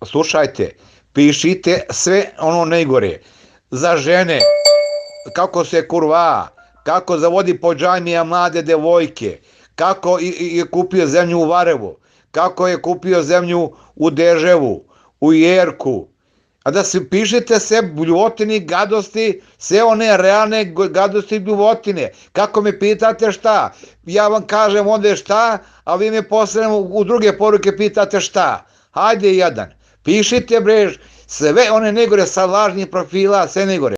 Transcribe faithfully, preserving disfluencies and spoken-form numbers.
slušajte, pišite sve ono najgore. Za žene, kako se kurva, kako zavodi po džamija mlade devojke, kako je kupio zemlju u Varevu, kako je kupio zemlju u Deževu, u Jerku. A da se pišete sve bljuvotine, gadosti, sve one realne gadosti i bljuvotine. Kako me pitate šta? Ja vam kažem onda šta, a vi me posle u druge poruke pitate šta. Hajde jedan, pišite bre, sve one negore sa lažnih profila, sve negore.